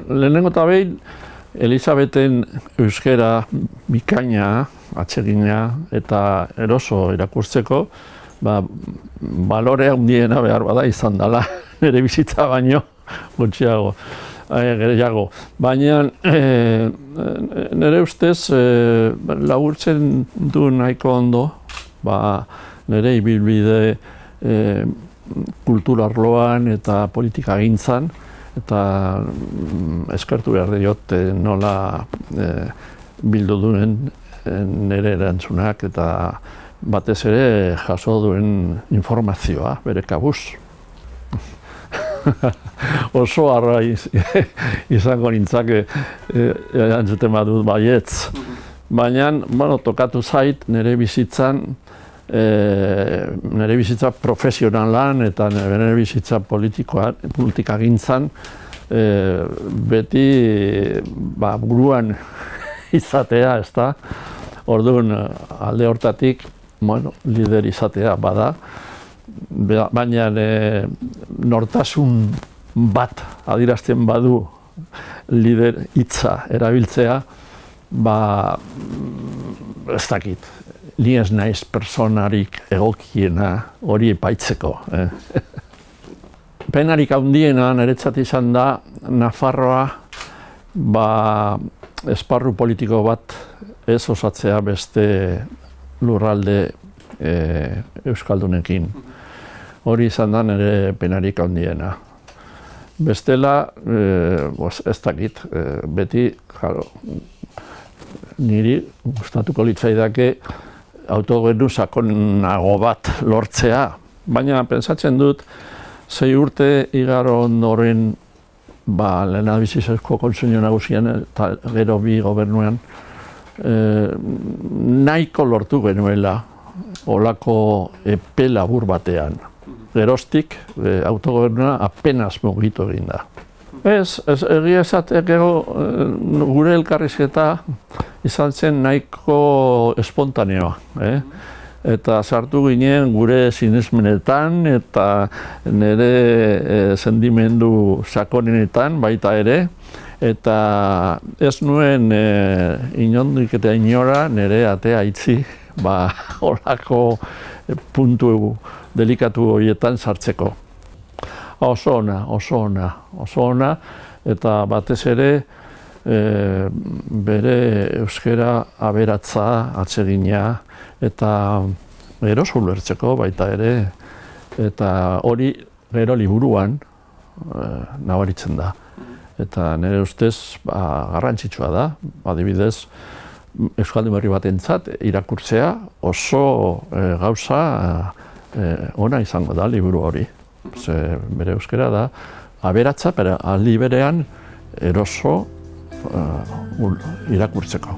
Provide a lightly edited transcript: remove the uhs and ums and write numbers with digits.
lehenengo eta behin, Elisabeten euskera bikaina, atsegina eta eroso irakurtzeko, balore handiena behar bada izan dela, nire bizitza baino gutxiago, gehiago. Baina nire ustez laburtzen du nahiko ondo, nire ibilbide kulturarloan eta politikagintzan, eta eskertu behar diot nola bildu duen nire erantzunak eta batez ere jaso duen informazioa bere kabuz. Oso harra izango nintzake erantzuten badut baietz. Baina, tokatu zait nire bizitzan, nire bizitza profesionalan eta nire bizitza politikagintzan beti buruan izatea, ezta? Orduan, alde hortatik, lider izatea bada, baina nortasun bat adierazten badu lider hitza erabiltzea, ez dakit. Ni ez naiz personarik egokiena hori epaitzeko. Penarik handiena niretzat izan da Nafarroa esparru politiko bat ez osatzea beste lurralde euskaldunekin. Hori izan da nire penarik handiena. Bestela, ez dakit, beti, niri gustatuko litzaidake autogobernu sakonago bat lortzea, baina pentsatzen dut 6 urte igaro ondoren lehendabiziko Kontseilu Nagusian eta gero bi gobernuan nahiko lortu genuela olako epe labur batean. Geroztik autogobernua apenas mugitu egin da. Egia esateko gure elkarrizketa izan zen nahiko espontaneoa. Eta sartu ginen gure sinesmenetan eta nire sentimendu sakonenetan baita ere. Eta ez nuen inondik eta inora nire atea itzi horako puntu delikatu horietan sartzeko. Oso ona, eta batez ere bere euskera aberatza, atsegina, eta eroso ulertzeko baita ere, eta hori gero liburuan nabaritzen da. Eta nire ustez garrantzitsua da, adibidez, euskaldun berri batentzat irakurtzea oso gauza ona izango da liburu hori. Bere euskera da aberatza, aldi berean eroso irakurtzeko.